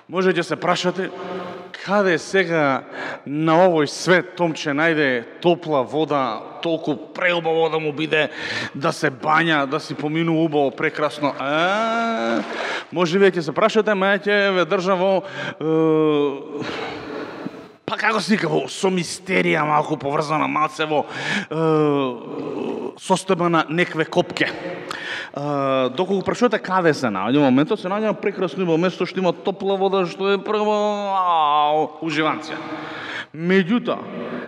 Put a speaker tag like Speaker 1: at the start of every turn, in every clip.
Speaker 1: Можете се прашате каде сега на овој свет Томче најде топла вода, толку преубаво да му биде, да се бања, да си поминува убаво, прекрасно. Може вие ќе се прашате, ма ќе ве држам во па како се вика, со мистерија малку поврзана, малце во состојба на некве копке. Доколку прашувате каде се наоѓа моментот, се наоѓа на прекрасно место што има топла вода, што е прво уживанција. Меѓутоа,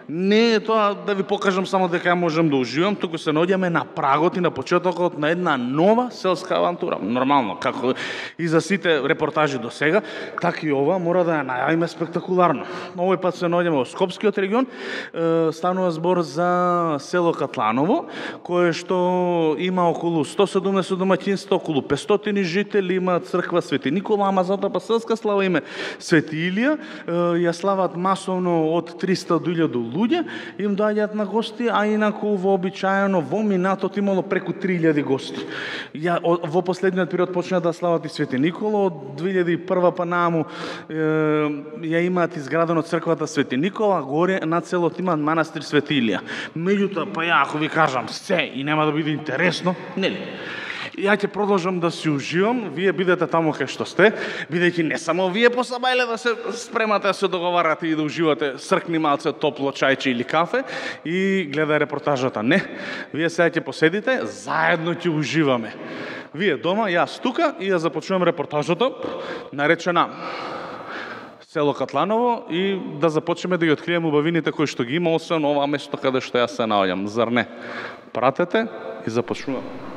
Speaker 1: не е тоа да ви покажам само дека ја можам да уживам, туку се наоѓаме на прагот и на почетокот на една нова селска авантура. Нормално, како и за сите репортажи до сега, така и ова мора да ја најавиме спектакуларно. Овој пат се наоѓаме во Скопскиот регион, станува збор за село Катланово, кое што има околу 170 домаќинства, околу 500 жители, има црква Свети Никола, ама затоа па селска слава име Свети Илија, ја слават масовно од 300 до 1000 луѓе, им доаѓаат на гости, а инаку вообичаено во минатот имало преку 3000 гости. Во последниот период почна да слават и Свети Никола, од 2001 па нааму ја имаат изградено црквата Свети Никола, горе на целот има манастир Свети Илија. Меѓутоа, па ја ако ви кажам се и нема да биде интересно, нели? Ја ќе продолжам да си уживам, вие бидете таму кај што сте, бидејќи не само вие посабајле да се спремате да се договарате и да уживате, сркни малце топло чајче или кафе и гледај репортажата. Не, вие сега ќе поседите, заедно ќе уживаме. Вие дома, јас тука и ја започнувам репортажата, наречена село Катланово и да започнеме да ги откриеме убавините кои што ги има, освен ова место каде што јас се наоѓам. Зар не? Пратете и започнуваме.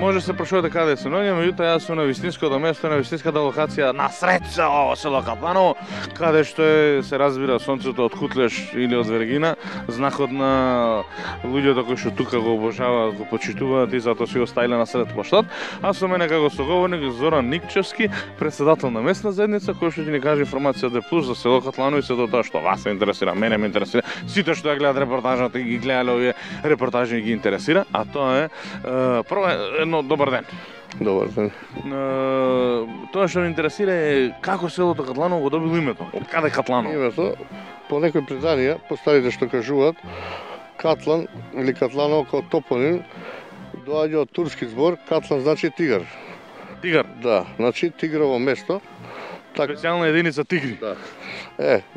Speaker 1: Може се прашувате каде се наоѓам, меѓутоа јас сум на вистинското место, на вистинската локација на сред село Катланово, каде што се разбира сонцето од Кутлеш или од Вергина, знакот на луѓето кои што тука го обожаваат, го почитуваат и затоа си го ставиле на сред плоштад. А со мене како соговорник Зоран Никчевски, председател на местна заедница, кој што ќе ни каже информација Д+ за село Катланово и се тоа што вас се интересира, мене ме интересира, сите што ја гледаат репортажата и ги гледале овие репортажи ги интересира, а тоа е прво добар ден.
Speaker 2: Добар ден.
Speaker 1: Тоа што ме интересира е како селото Катланово го добило името. Од каде Катланово?
Speaker 2: Името, по некои преданија, по старите што кажуваат, Катлан или Катланово како топоним доаѓа од турски збор, Катлан значи тигар.
Speaker 1: Тигар?
Speaker 2: Да, значи тигрово место.
Speaker 1: Специјална единица тигри.
Speaker 2: Да.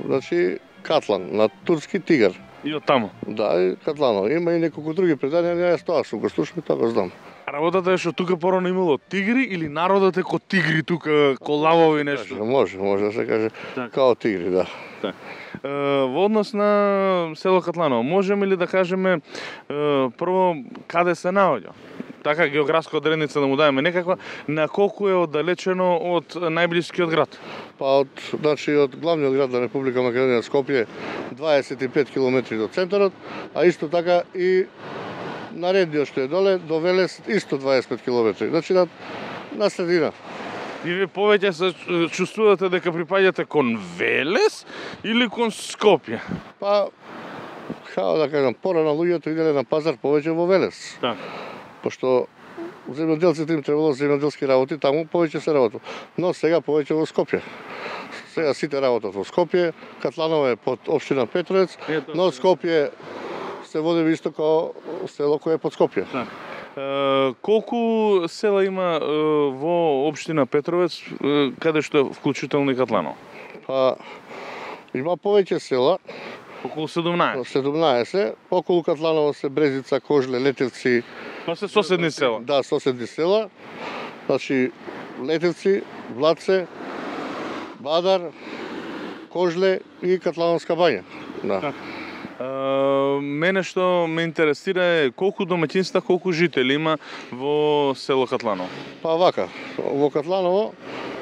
Speaker 2: Значи Катлан, на турски тигар.
Speaker 1: И од таму?
Speaker 2: Да, и Катланово. Има и неколку други преданија, не јас тоа сум го слушам и тоа го знам.
Speaker 1: Работата е што тука порано имало тигри или народот е ко тигри тука, ко лавови нешто?
Speaker 2: Може да се каже као тигри, да.
Speaker 1: Во однос на село Катланово, можеме ли да кажеме прво каде се наоѓа? Така географска одредница да му даеме некаква, на колку е оддалечено од најблискиот град?
Speaker 2: Па од главниот град на Република Македонија Скопје 25 километри до центарот, а исто така и наредниот што е доле до Велес исто 25 километри. Значи на средина.
Speaker 1: И ви повеќе се чувствувате дека припаѓате кон Велес или кон Скопје?
Speaker 2: Па, како да кажам, порано луѓето иделе на пазар повеќе во Велес.
Speaker 1: Так.
Speaker 2: Пошто земјоделците им требало земјоделски работи, таму повеќе се работи. Но сега повеќе во Скопје. Сега сите работат во Скопје, Катланово е под општина Петровец, но Скопје се води исто како село кое е под Скопје.
Speaker 1: Так. Колку села има во општина Петровец, каде што е вклучително и Катланово?
Speaker 2: Па, има повеќе села.
Speaker 1: Околу 17.
Speaker 2: 17. Околу Катланово се Брезица, Кожле, Летевци.
Speaker 1: Па се соседни села?
Speaker 2: Да, соседни села. Значи, Летевци, Влаце, Бадар, Кожле и Катлановска бања. Да.
Speaker 1: Мене што ме интересира е колку домаќинства, колку жители има во село Катланово?
Speaker 2: Па вака, во Катланово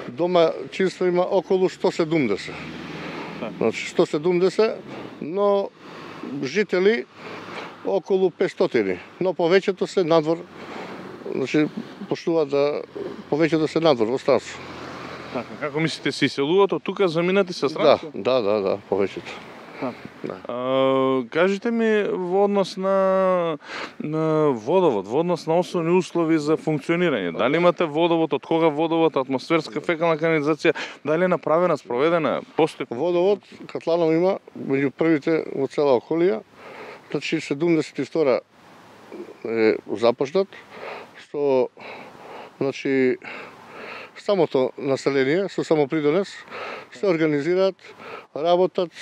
Speaker 2: домаќинства има околу 170. Значи 170, но жители околу 500, но повеќето се надвор. Значи поштуваат да повеќето се надвор во странство.
Speaker 1: Така, како мислите се иселуваат од тука заминати се странство?
Speaker 2: Да, повеќето.
Speaker 1: Да. Кажете ми во однос на водовод, во однос на основни услови за функционирање. Дали имате водовод, од кога водовод, атмосферска фекална канализација, дали е направена, спроведена, постои?
Speaker 2: Водовод Катланово има меѓу првите во цела околија. Значи 72 е започнат, што значи самото население со самопридонес се организираат, работат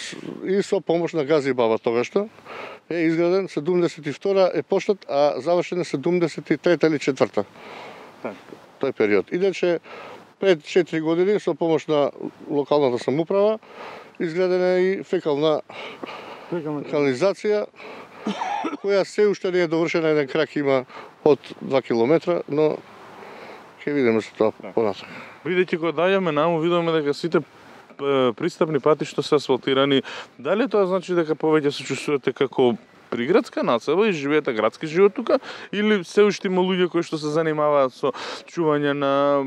Speaker 2: и со помош на Гази Баба тогашто е изграден 72 е почнат, а завршен е 73 или 4. Тој период. Иначе пред 4 години со помош на локалната самоуправа изградена е и фекална канализација која се уште не е довршена, еден крак има од 2 километра, но ќе видиме се тоа понатаму.
Speaker 1: Бидејќи кога доаѓаме наму, видиме дека сите пристапни патишта се асфалтирани. Дали тоа значи дека повеќе се чувствувате како приградска населба и живеете градски живот тука, или се уште има луѓе кои што се занимаваат со чување на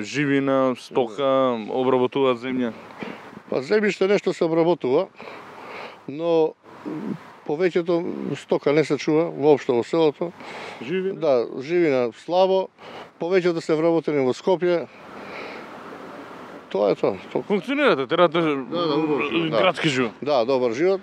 Speaker 1: живина, стока, обработуваат земја?
Speaker 2: Па земјиште нешто се обработува, но повеќето стока не се чува воопшто во селото.
Speaker 1: Живина?
Speaker 2: Да, живина слабо, повеќето се вработени во Скопје. Тоа е тоа.
Speaker 1: Функционирате, терате градски живот.
Speaker 2: Да, добар живот.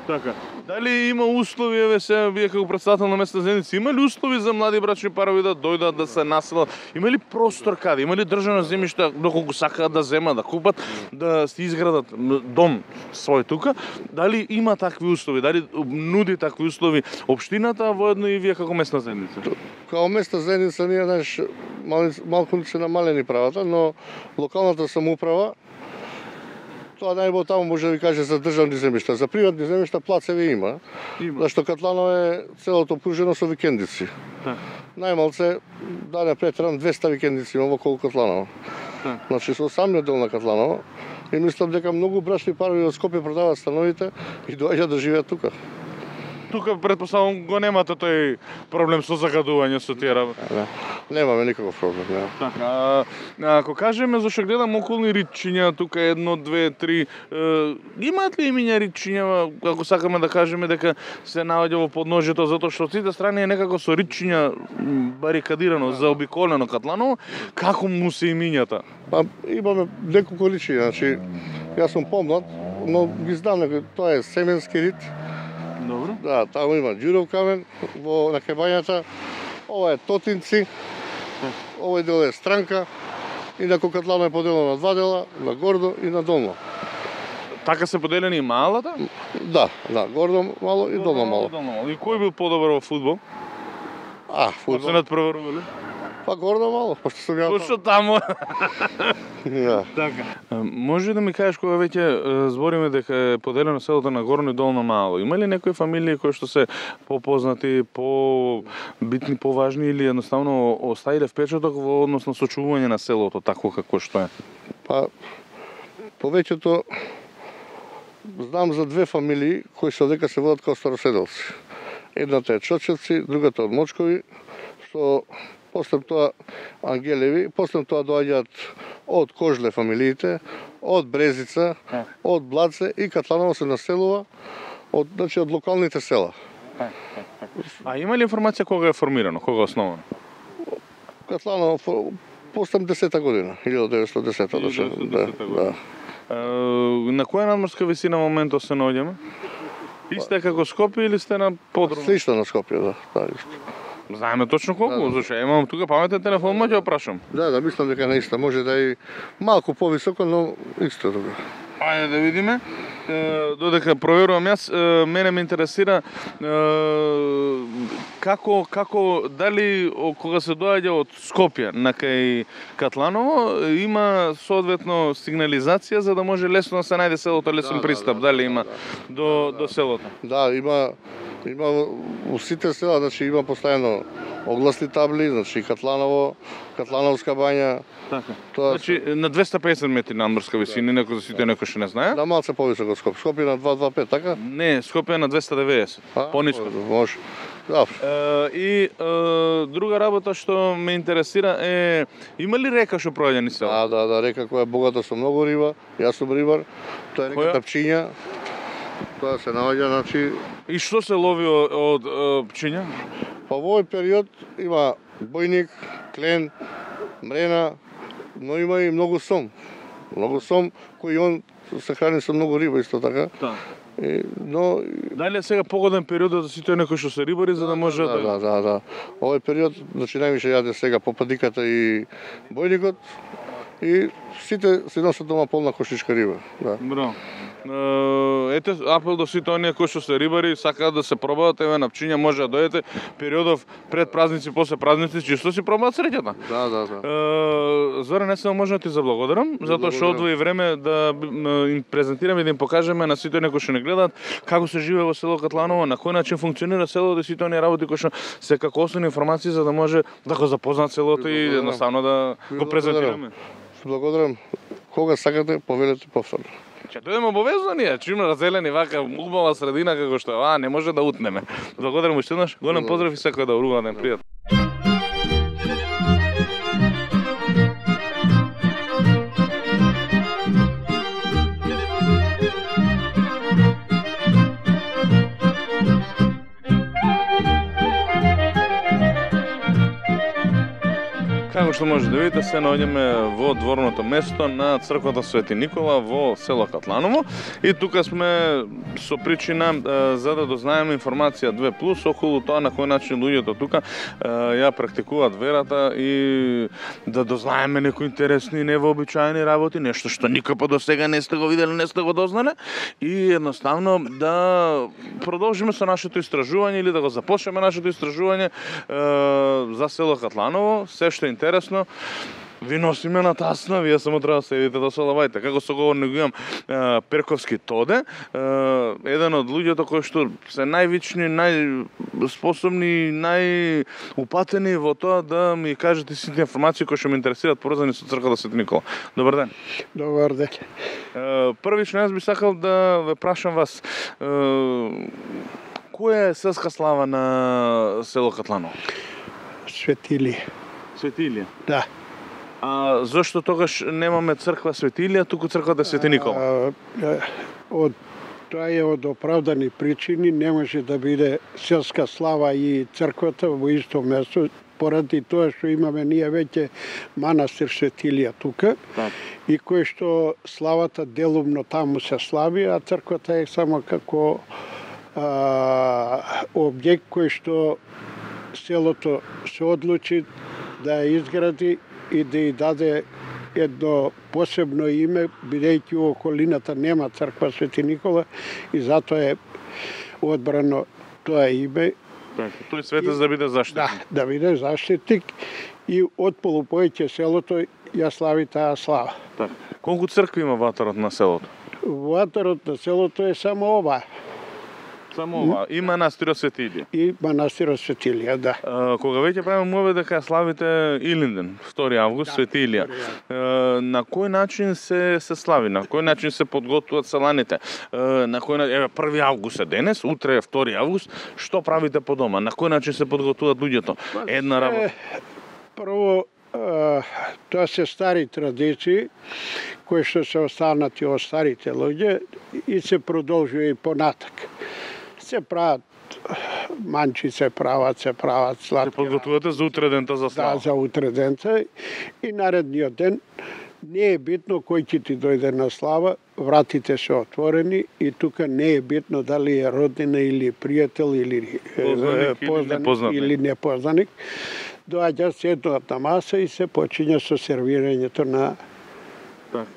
Speaker 1: Така. Дали има услови, вие како претставител на местна заедница, има ли услови за млади брачни парови да дојдат, да се населат? Има ли простор каде? Има ли држано земјиште доколку сакаат да земат, да купат, да си изградат дом свој тука? Дали има такви услови? Дали нуди такви услови општината воедно и вие како местна заедница?
Speaker 2: Као местна заедница ние малку се намалени правата, но локалната самоуправа тоа најбо таму може да ви каже за државни земјишта. За приватни земјишта плацеви има. Зашто Катланово е целото опружено со викендици. Најмалце, да не претерам, 200 викендици има околу Катланово. Значи со самиот дел на Катланово. И мислам дека многу брачни парови од Скопје продаваат становите и доаѓаат да живеат тука.
Speaker 1: Тука претпоставувам го немате тој проблем со загадување со тие работи.
Speaker 2: Немаме никаков проблем, нема.
Speaker 1: Така, ако кажеме зашто гледам околни ричиња, тука 1, 2, 3, имаат ли имиња ричиња, ако сакаме да кажеме дека се наоѓа во подножјето, затоа што од сите страни е некако со ричиња барикадирано, заобиколено Катланово, како му се имињата?
Speaker 2: Па имаме неколку ричиња, значи јас сум помлад, но ги знам дека тоа е Семенски рит.
Speaker 1: Добро.
Speaker 2: Да, таму има Ѓуров камен на Кебањата. Ова е Тотинци. Овој дел е Странка. Инаку Катланово е поделено на два дела, на гордо и на долно.
Speaker 1: Така се поделени и малата?
Speaker 2: Да, гордо мало и долно мало.
Speaker 1: И кој бил подобар во фудбал?
Speaker 2: Фудбал.
Speaker 1: Се надпреварувале?
Speaker 2: Па гордо мало, пошто сум ја.
Speaker 1: Пошто таму.
Speaker 2: Да.
Speaker 1: Така. Може да ми кажеш кога веќе збориме дека е поделено селото на горно и долно мало. Има ли некои фамилии кои што се попознати, побитни, поважни или едноставно оставиле впечаток во однос на сочувување на селото такво како што е?
Speaker 2: Па повеќето знам за две фамилии кои се дека се водат како староседелци. Едната е Чочевци, другата од Мочкови, што после тоа Ангелеви, после тоа доаѓаат од Кожле фамилиите, од Брезица, од Блаце и Катланово се населува од локалните села.
Speaker 1: А има ли информација кога е формирано, кога е основано?
Speaker 2: Катланово по 80-та година, 1910-та. Да.
Speaker 1: На која надморска висина моментот се наоѓаме? Исте како Скопје или сте на подрум?
Speaker 2: Слично на Скопје, да.
Speaker 1: Знаеме точно колку, зашто имам тука паметен телефон, ма ќе прашам.
Speaker 2: Да, мислам дека наиста може да е малку повисоко, но исто тука.
Speaker 1: Ајде да видиме. Додека проверувам јас, мене ме интересира како дали кога се доаѓа од Скопје на кај Катланово има соодветно сигнализација за да може лесно да се најде селото, лесен пристап, дали има до селото?
Speaker 2: Да, има во сите села, значи има постојано огласни табли, значи Катланово, Катлановска бања.
Speaker 1: Така. Значи на 250 метри надморска висина, некој за сите некој што не знае.
Speaker 2: Да, малце повисоко од Скопје. Скопје на 225, така?
Speaker 1: Не, Скопје на 290, пониско.
Speaker 2: Може. Да.
Speaker 1: И друга работа што ме интересира е, има ли река што проаѓа низ село?
Speaker 2: Да, река која е богата со многу риба. Јас сум рибар. Тоа е река Пчиња. Тоа се наоѓа, значи.
Speaker 1: И што се лови од Пчиња?
Speaker 2: Па во овој период има бојник, клен, мрена, но има и многу сом. Многу сом кој он се храни со многу риба исто така.
Speaker 1: Да.
Speaker 2: Но
Speaker 1: дали е сега погоден период за сите некои што се рибари за да може
Speaker 2: да. Овој период, значи највише јаде сега попадиката и бојникот и сите се носат дома полна кошичка риба. Да.
Speaker 1: Браво. Ете, апел до сите оние кои што се рибари, сакаат да се пробаат, еве на Пчиња може да дојдете периодов пред празници, после празници, чисто си пробаат среќата.
Speaker 2: Да.
Speaker 1: Зоран, не само може да ти заблагодарам, затоа што одвои време да им презентираме и да им покажеме на сите оние кои што не гледаат како се живее во село Катланово, на кој начин функционира селото и сите оние работи кои што се како основни информации за да може да го запознаат селото и едноставно да го презентираме.
Speaker 2: Благодарам. Кога сакате, повелете повторно.
Speaker 1: Ќе дојдеме обовезно ние, чимно разделени вака убава средина како што не може да утнеме. Благодарам уште еднаш, голем поздрав и секој да урува ден пријатно. Како што може да видите, се наоѓаме во дворното место на црквата Свети Никола во село Катланово и тука сме со причина за да дознаеме информација 2+ околу тоа на кој начин луѓето тука ја практикуваат верата и да дознаеме некои интересни и невообичаени работи, нешто што никој по досега не сте го видели, не сте го дознале и едноставно да продолжиме со нашето истражување или да го започнеме нашето истражување за село Катланово, се што е интересно, ви носиме на тасна, вие само треба да седите да солавајте. Како соговорник имам Перковски Тоде, еден од луѓето кои што се највични, најспособни, најупатени во тоа да ми кажете сите информации кои што ме интересираат поврзани со црквата Свети Никола. Добар ден.
Speaker 3: Добар ден.
Speaker 1: Првично јас би сакал да ве прашам вас, која е селска слава на село Катланово?
Speaker 3: Светилија.
Speaker 1: Светилија?
Speaker 3: Да.
Speaker 1: А зошто тогаш немаме црква Светилија, туку црквата Свети Никола?
Speaker 3: Тоа е од оправдани причини, не може да биде селска слава и црквата во исто место, поради тоа што имаме ние веќе манастир Светилија тука, и кој што славата делумно таму се слави, а црквата е само како објект кој што селото се одлучи да ја изгради и да ја даде едно посебно име, бидејќи во околината нема црква Свети Никола и затоа е одбрано тоа име.
Speaker 1: Тој светец да биде заштитник.
Speaker 3: Да биде заштитник и од полупоеќе селото ја слави таа слава.
Speaker 1: Колку цркви има ватарот на селото?
Speaker 3: Ватарот на селото е само ова.
Speaker 1: Само ова. И манастирот Светилија.
Speaker 3: И манастирот Светилија, да.
Speaker 1: Кога веќе правиме мове дека славите Илинден, 2 август, Светилија. На кој начин се слави? На кој начин се подготвуваат селаните? На кој начин, еве 1 август е денес, утре е 2 август, што правите по дома? На кој начин се подготвуваат луѓето? Една работа.
Speaker 3: Прво, тоа се стари традиции кои што се останати од старите луѓе и се продолжува и понатак. Се прават манчи, се прават сладки.
Speaker 1: Се подготвувате за утре дента за слава?
Speaker 3: Да, за утре дента и наредниот ден не е битно кој ќе ти дојде на слава, вратите се отворени и тука не е битно дали е роднина или пријател или познаник или непознаник. Доаѓа се еднот на маса и се почиња со сервирањето на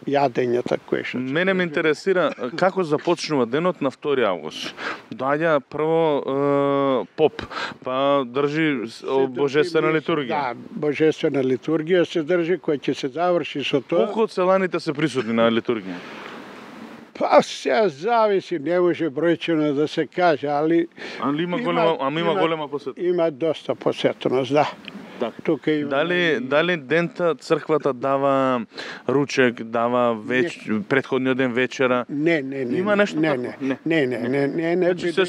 Speaker 3: јадењата кои што.
Speaker 1: Мене ме интересира како започнува денот на 2 август. Доаѓа прво поп, па држи божествена литургија.
Speaker 3: Да, божествена литургија се држи која ќе се заврши со тоа.
Speaker 1: Колку од селаните се присутни на литургија?
Speaker 3: Па се зависи, не може бројчено да се каже, али
Speaker 1: има голема посетеност.
Speaker 3: Има доста посетеност, да. Тука има.
Speaker 1: Дали дента црквата дава ручек, дава претходниот ден вечера?
Speaker 3: Не.
Speaker 1: Има нешто
Speaker 3: тако? Не.
Speaker 1: Значи се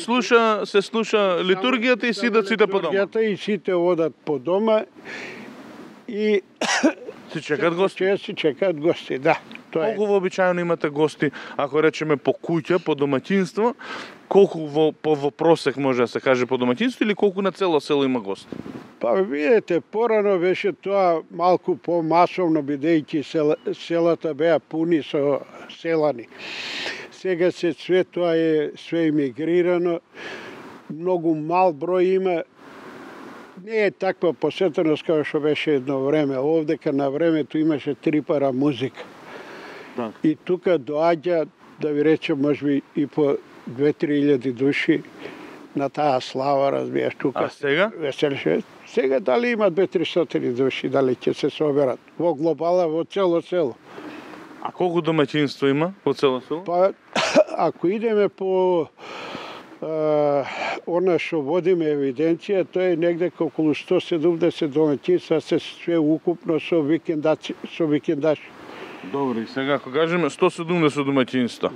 Speaker 1: слуша литургијата и сидат сите по дома.
Speaker 3: Литургијата и сите одат по дома и
Speaker 1: си чекат гости.
Speaker 3: Си чекат гости, да.
Speaker 1: Колку вообичаено имате гости, ако речеме по куќа, по домаќинство, колку во просек може да се каже по домаќинство или колку на цело село има гости?
Speaker 3: Па видете, порано беше тоа малку помасовно, бидејќи селата беа пуни со селани. Сега све тоа е све емигрирано, многу мал број има. Не е таква посетеност како што беше едно време. Овдека на времето имаше 3 пара музика. И тука доаѓа, да ви речем, можеби и по 2-3 души на таа слава, разбираш, тука.
Speaker 1: А сега?
Speaker 3: Веселше. Сега дали има 2-300 души, дали ќе се соберат во глобала, во цело село.
Speaker 1: А колку домаќинство има во цело село?
Speaker 3: Па, ако идеме по она што водиме евиденција, тоа е негде околу 170 домаќинства, се све укупно со викендаши.
Speaker 1: Добро, и сега ако кажеме 170 домаќинства,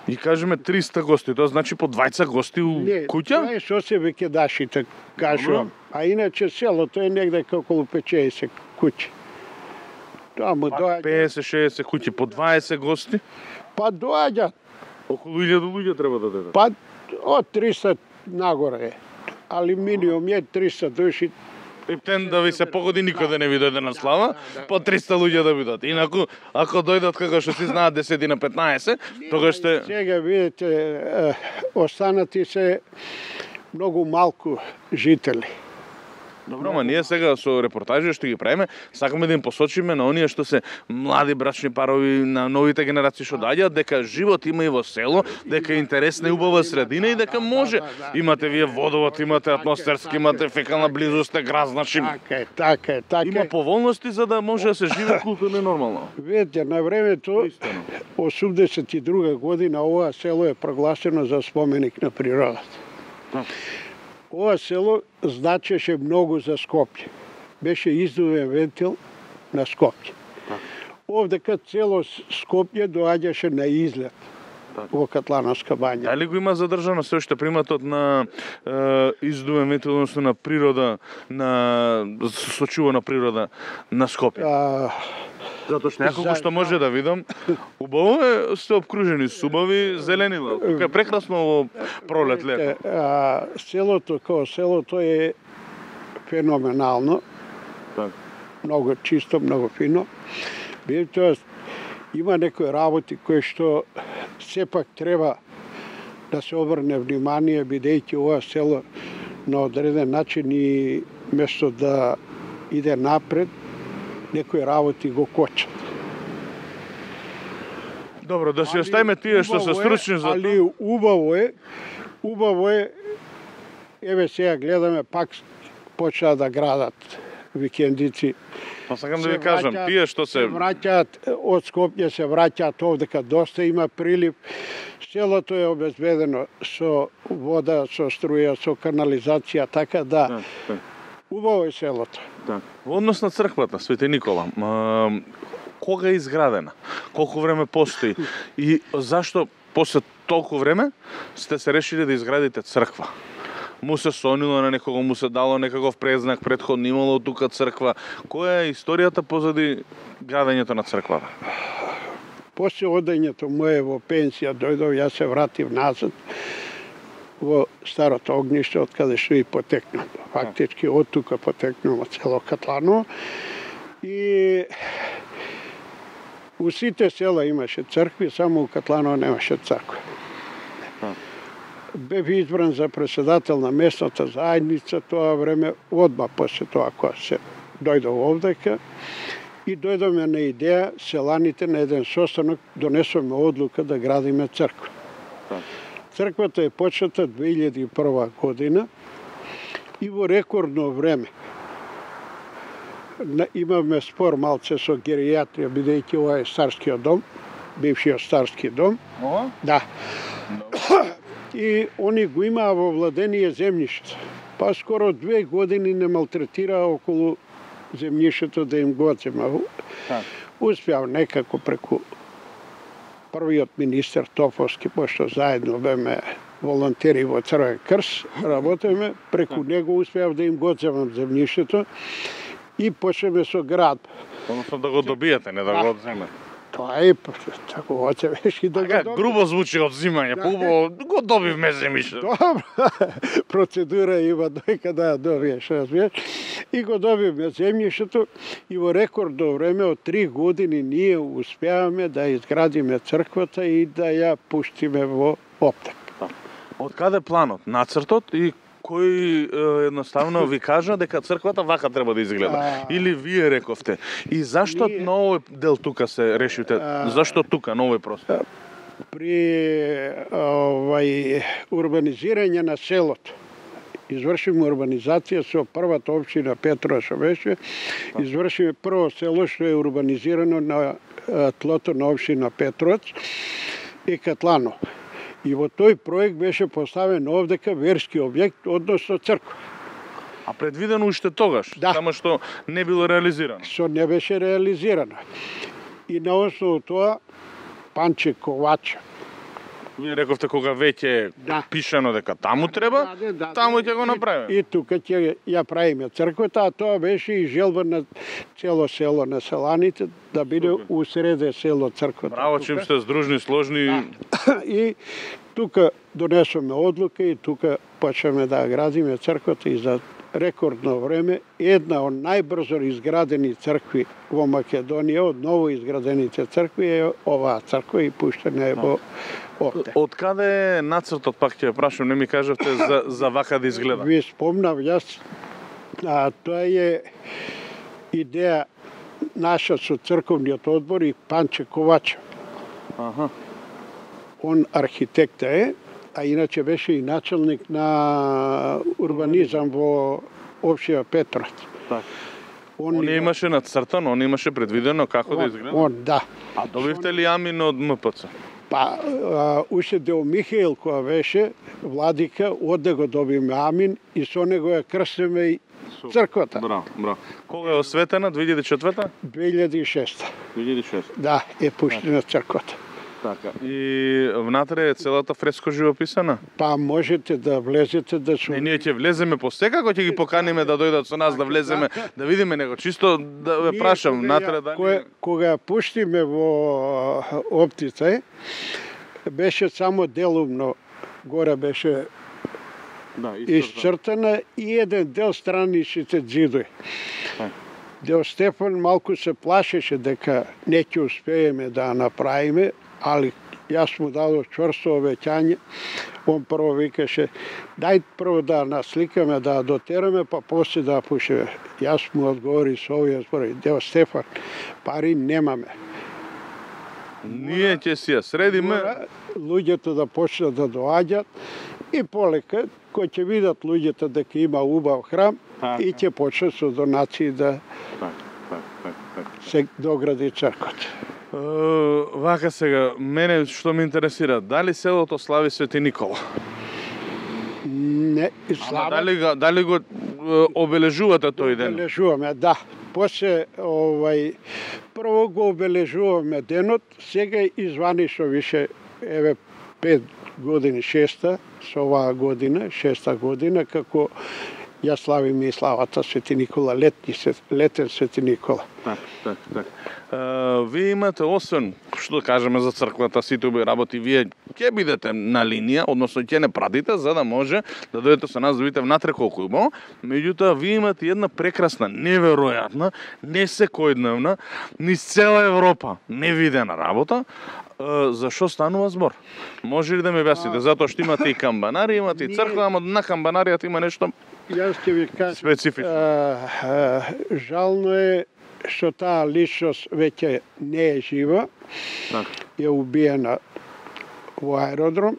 Speaker 1: и кажеме 300 гости, тоа значи по 20 гости у куќа?
Speaker 3: Не, тоа е што се викендашите, кажувам. А иначе селото е негде околу 50 куќи. Тоа му доаѓа
Speaker 1: 50-60 куќи по 20 гости?
Speaker 3: Па доаѓаат.
Speaker 1: Околу 1000 луѓе треба да дадат.
Speaker 3: Па од 300 нагоре е. Али минимум е 300 души.
Speaker 1: Ептен да ви се погоди никој да не ви дојде на слава, по 300 луѓе да бидат. Инаку, ако дојдат како што си знаат 10 на 15, тогаш ще...
Speaker 3: Сега, видите, останати се многу малку жители.
Speaker 1: Добро, ама ние сега со репортажи што ги правиме, сакаме да им посочиме на оние што се млади брачни парови, на новите генерации што доаѓаат, дека живот има и во село, дека е интересна и убава средина и дека може. Имате вие водовод, имате атмосферски, имате фекална близост, град, значи.
Speaker 3: Така е.
Speaker 1: Има поволности за да може да се живее културно нормално.
Speaker 3: Видите, на времето 82 година ова село е прогласено за споменик на природата. Ова село значеше многу за Скопје. Беше издувен вентил на Скопје. Овдека цело Скопје доаѓаше на излет во Катлановска бања.
Speaker 1: Дали го има задржано се уште приматот на издувен вентил, односно на природа, на сочувана природа на Скопје? Затоа што неколку што може да видам, убаво е, сте обкружени с убави зеленила. Тука е прекрасно во пролет, лето.
Speaker 3: Селото, како селото е феноменално. Многу чисто, многу фино. Тоа има некои работи кои што сепак треба да се обрне внимание, бидејќи ова село на одреден начин и место да иде напред, некои работи го кочат.
Speaker 1: Добро, да си оставиме тие што се стручни за тоа.
Speaker 3: Али убаво е, еве сега гледаме, пак почнаа да градат викендици.
Speaker 1: Па сакам да ви кажам, тие што се
Speaker 3: враќаат од Скопје, се враќаат овдека, доста има прилив. Селото е обезбедено со вода, со струја, со канализација, така да убаво е селото.
Speaker 1: Во однос на црквата Свети Никола, кога е изградена? Колку време постои? И зашто после толку време сте се решили да изградите црква? Му се сонило на некого, му се дало некаков презнак, претходно имало тука црква. Која е историјата позади градењето на црквата?
Speaker 3: После одењето мое во пенсија дојдов, јас се вратив назад во старото огниште, од каде што и потекнам. Фактички од тука потекнам од село Катланово. И у сите села имаше цркви, само у Катланово немаше црква. Бев избран за председател на местната заедница тоа време, одма после тоа кога се дојдов овдека. И дојдоме на идеја, селаните на еден состанок донесоме одлука да градиме црква. Црквата е почната 2001 година и во рекордно време имаме спор малце со геријатрија, бидејќи ова е старскиот дом, бившиот старски дом.
Speaker 1: Ова?
Speaker 3: Да. И они го имаа во владение земјиште. Па скоро 2 години не малтретираа околу земјишето да им го одзема. Успеав некако преку првиот министер Топовски, пошто заедно беме волонтери во Црвен крст, работеме, преку него успеав да им го одземам земјишето и почнеме со градба.
Speaker 1: Односно да го добиете, не да го одземете.
Speaker 3: Тоа е, тако оцевеш и да го добиеш.
Speaker 1: Грубо звучи одзимање, поубаво го добивме земјишето.
Speaker 3: Добро, процедура има дојка да ја добиеш, разбираш. И го добивме земјишето и во рекордно време од 3 години ние успеаваме да изградиме црквата и да ја пуштиме во оптек.
Speaker 1: Од каде планот, нацртот и кој едноставно ви кажа дека црквата вака треба да изгледа? Или вие рековте? И зашто на овој дел тука се решите? Зашто тука, на овој простор?
Speaker 3: При урбанизирање на селото, извршиме урбанизација со првата општина Петрова што беше, извршиме прво село што е урбанизирано на тлото на општина Петровац и Катланово. И во тој проект беше поставен овдека верски објект, односно црква.
Speaker 1: А предвидено уште тогаш, само што не било реализирано.
Speaker 3: Што не беше реализирано. И на основу тоа Панче Ковача.
Speaker 1: Вие рековте кога веќе пишано дека таму треба, таму ќе го направиме.
Speaker 3: И тука ќе ја правиме црквата, а тоа беше и желба на цело село на селаните да биде усреде село црквата.
Speaker 1: Браво, чим сте здружни, сложни.
Speaker 3: И тука донесоме одлука и тука почнеме да градиме црквата и за рекордно време една од најбрзо изградени цркви во Македонија, од ново изградените цркви е оваа црква и пуштена е во оптек.
Speaker 1: Од каде е нацртот, пак ќе прашам, не ми кажавте за вака да изгледа?
Speaker 3: Ви спомнав јас, тоа е идеја наша со црковниот одбор и Панче Ковача. Он архитекта е, а иначе беше и начелник на урбанизам во општина Петровац.
Speaker 1: Он имаше нацртано, он имаше предвидено како да изгледа?
Speaker 3: Он, да.
Speaker 1: А добивте ли амин од МПЦ?
Speaker 3: Па, уште Дел Михаил која беше владика, оде го добиме амин и со него ја крстиме и црквата.
Speaker 1: Браво, браво. Кога е осветена? 2004-та?
Speaker 3: 2006.
Speaker 1: 2006.
Speaker 3: Да, е пуштена црквата.
Speaker 1: Така. И внатре е целата фреско живописана?
Speaker 3: Па можете да влезете да се...
Speaker 1: Ние ќе влеземе посекако, ќе ги поканиме да дојдат со нас да влеземе, да видиме него. Чисто да ве прашам, внатре да...
Speaker 3: Кога ја пуштиме во оптица, беше само делумно, горе беше исцртана и еден дел страничните ѕидови. Дел Стефан малку се плашеше дека не ќе успееме да направиме, али јас му дадов чврсто обеќање. Он прво викаше, дај прво да насликаме, да дотераме, па после да пушиме. Јас му одговори со овие зборови, Дел Стефан, пари немаме.
Speaker 1: Ние ќе си ја средиме.
Speaker 3: Луѓето да почнат да доаѓат и полека, кој ќе видат луѓето дека има убав храм и ќе почнат со донации да се догради црквата.
Speaker 1: Вака сега, мене што ме интересира, дали селото слави Свети Никола?
Speaker 3: Не, слава.
Speaker 1: Дали го обележувате тој ден?
Speaker 3: Обележуваме, да. После прво го обележуваме денот, сега изванишно више, еве 5 години, 6-та, со оваа година, 6-та година, како ја славиме и славата Свети Никола, летен Свети Никола.
Speaker 1: Так. Вие имате, освен, што да кажеме за црквата, сите убави работи, вие ќе бидете на линија, односно ќе не пратите, за да може да дојдете со нас да видите внатре колку има. Меѓутоа, вие имате една прекрасна, неверојатна, не секојдневна, низ цела Европа невидена работа. За што станува збор? Може ли да ми објасните? Затоа што имате и камбанари, имате и црква, ама на камбанаријата има нешто специфично.
Speaker 3: Жално е што таа личност веќе не е жива, е убиена во аеродром,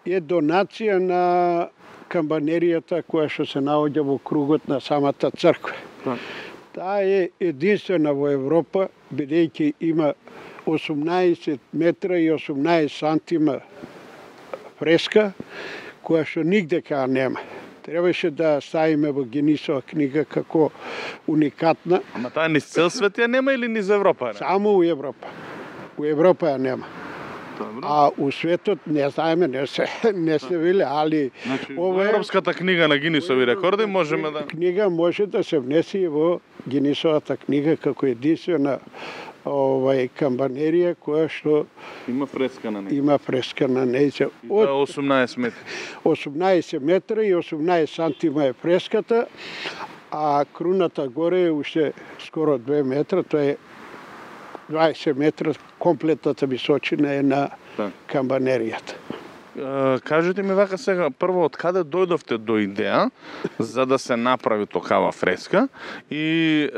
Speaker 3: е донација на камбанеријата која што се наоѓа во кругот на самата црква. Таа е единствена во Европа, бидејќи има 18 метра и 18 сантима фреска, која што нигде кај нема. Требаше да ставиме во Гинисова книга како уникатна.
Speaker 1: Ама таа низ цел свет ја нема или низ Европа?
Speaker 3: Само у Европа. У Европа ја нема.
Speaker 1: Добро.
Speaker 3: А у светот не знаеме, не се вели, али
Speaker 1: Значи, во Европската книга на Гинисови рекорди можеме да...
Speaker 3: Книга може да се внесе и во Гинисовата книга како единствена камбанерија која што
Speaker 1: Има фреска на неја.
Speaker 3: има фреска на неја.
Speaker 1: Од 18 метри.
Speaker 3: 18 метра и 18 сантима е фреската, а круната горе е уште скоро 2 метра, тоа е 20 метра, комплетната височина е на камбанеријата.
Speaker 1: Кажете ми вака сега, прво, од каде дојдовте до идеја за да се направи токава фреска и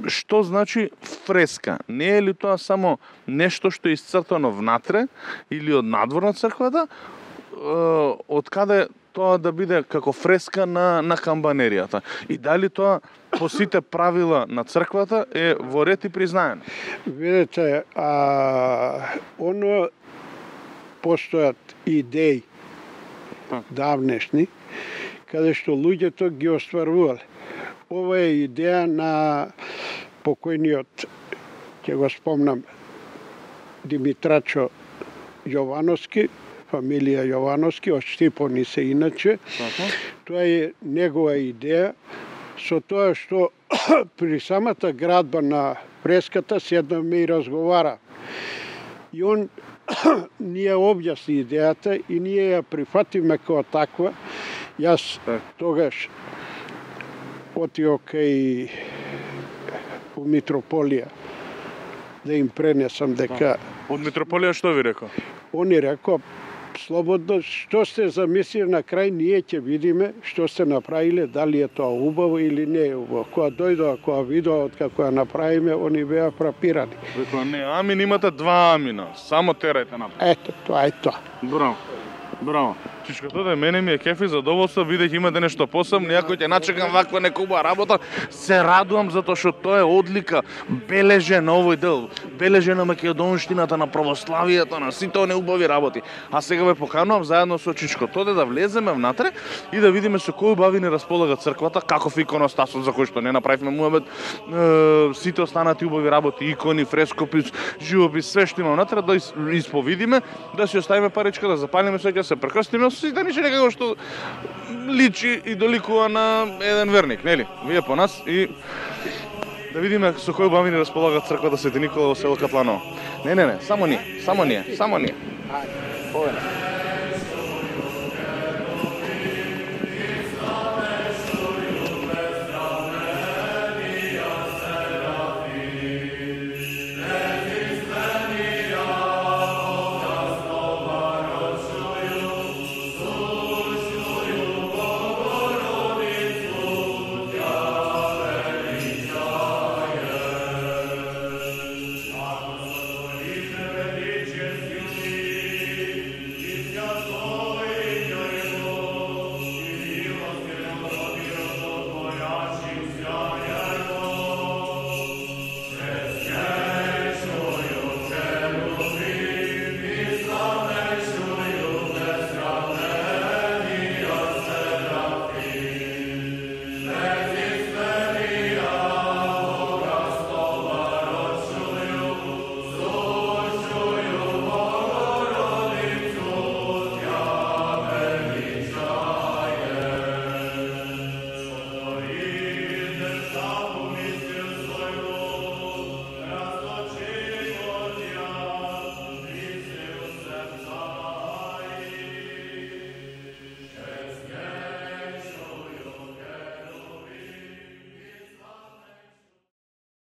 Speaker 1: што значи фреска? Не е ли тоа само нешто што е исцртано внатре или од надвор на црквата? Од каде тоа да биде како фреска на камбанеријата? И дали тоа по сите правила на црквата е во ред и признаено?
Speaker 3: Видете, оно постојат идеи давнешни, каде што луѓето ги остварувале. Ова е идеја на покојниот, ќе го спомнам, Димитрачо Јовановски, фамилија Јовановски, од Штипони се иначе. Тоа е негова идеја, со тоа што при самата градба на фреската седнаме и разговара. И он ни ја објасни идејата и ние ја прифатиме како таква. Јас тогаш отио кај у Митрополија да им пренесам дека...
Speaker 1: Од Митрополија што ви рекол?
Speaker 3: Они рекол, слободно, што сте замислили на крај, ние ќе видиме што сте направиле, дали е тоа убаво или не е убаво. Кога дојдоа, кога видоа од како ја направиме, они беа фрапирани.
Speaker 1: Рекол, не, амин имате 2 амина, само терајте напред.
Speaker 3: Ето, тоа е тоа.
Speaker 1: Браво, браво. Чичко, тоа мене ми е кефи задоволство, бидејќи имате нешто посебно, иако ќе начекам ваква нека убава работа, се радувам затоа што тоа е одлика, бележен овој дел, бележен на македонштината, на православието, на сите оние убави работи. А сега ве поканувам заедно со Чичко Тоде да влеземе внатре и да видиме со кои убави ни располага црквата, каков иконостасот за кој што не направивме муабет, сите останати убави работи, икони, фрескопис, живопис, све што има внатре, да исповидиме, да си оставиме паричка, да запалиме свеќа, се прекрстиме, сите ништо некако што личи и доликува на еден верник, нели? Вие по нас и да видиме со кои убави ни располага црквата Свети Никола во село Катланово. Не, само ние. Овде.